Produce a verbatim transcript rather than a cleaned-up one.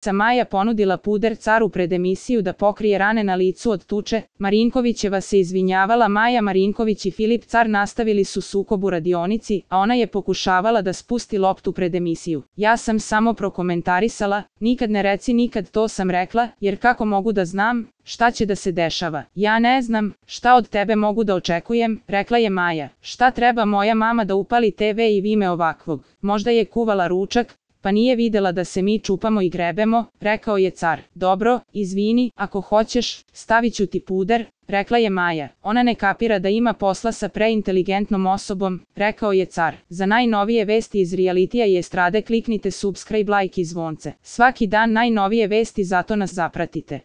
Maja ponudila puder caru pred emisiju da pokrije rane na licu od tuče, Marinkovićeva se izvinjavala. Maja Marinković i Filip Car nastavili su sukob u radionici, a ona je pokušavala da spusti loptu pred emisiju. Ja sam samo prokomentarisala, nikad ne reci nikad, to sam rekla, jer kako mogu da znam šta će da se dešava. Ja ne znam šta od tebe mogu da očekujem, rekla je Maja. Šta treba moja mama da upali te ve i vime ovakvog? Možda je kuvala ručak, pa nije videla da se mi čupamo i grebemo, rekao je Car. Dobro, izvini, ako hoćeš, stavit ću ti puder, rekla je Maja. Ona ne kapira da ima posla sa preinteligentnom osobom, rekao je Car. Za najnovije vesti iz realitija i estrade kliknite subscribe, like i zvonce. Svaki dan najnovije vesti, zato nas zapratite.